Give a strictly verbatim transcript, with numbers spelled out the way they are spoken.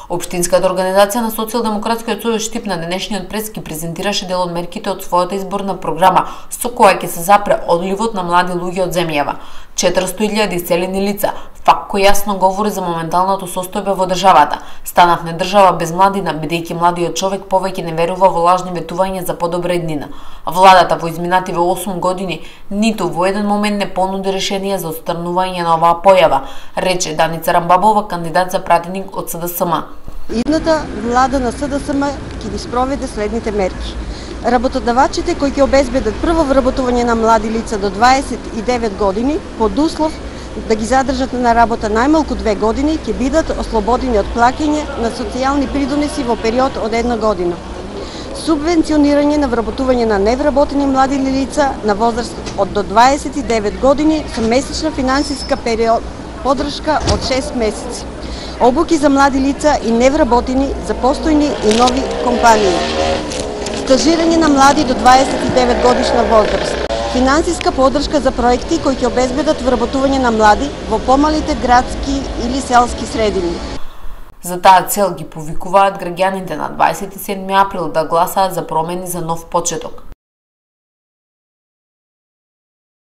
Општинската организација на Социјалдемократскиот сојуз Штип на денешниот прес ги презентираше дел од мерките од својата изборна програма, со која ќе се запре одливот на млади луѓе од земјава. четиристотини илјади иселени лица, факт кој јасно говори за моменталното состојбе во државата. Станавме држава без младина, бидејќи младиот човек повеќе не верува во лажни ветувања за подобра еднина. Владата во изминативе осум години ниту во еден момент не понуди решение за отстранување на оваа појава, рече Даница Рамбабова, кандидат за пратеник од С Д С М. Идната влада на С Д С М ќе ги спроведе следните мерки. Работодавачите кои ќе обезбедат прво вработување на млади лица до дваесет и девет години, под услов да ги задржат на работа најмалку две години, ќе бидат ослободени од плаќање на социјални придонеси во период од една година. Субвенционирање на вработување на невработени млади лица на возраст од до дваесет и девет години со месечна финансиска период поддршка од шест месеци. Обуки за млади лица и невработени за постојни и нови компании. Стажирање на млади до дваесет и девет годишна возраст. Финансиска поддршка за проекти кои ќе обезбедат вработување на млади во помалите градски или селски средини. За таа цел ги повикуваат граѓаните на дваесет и седми април да гласаат за промени за нов почеток.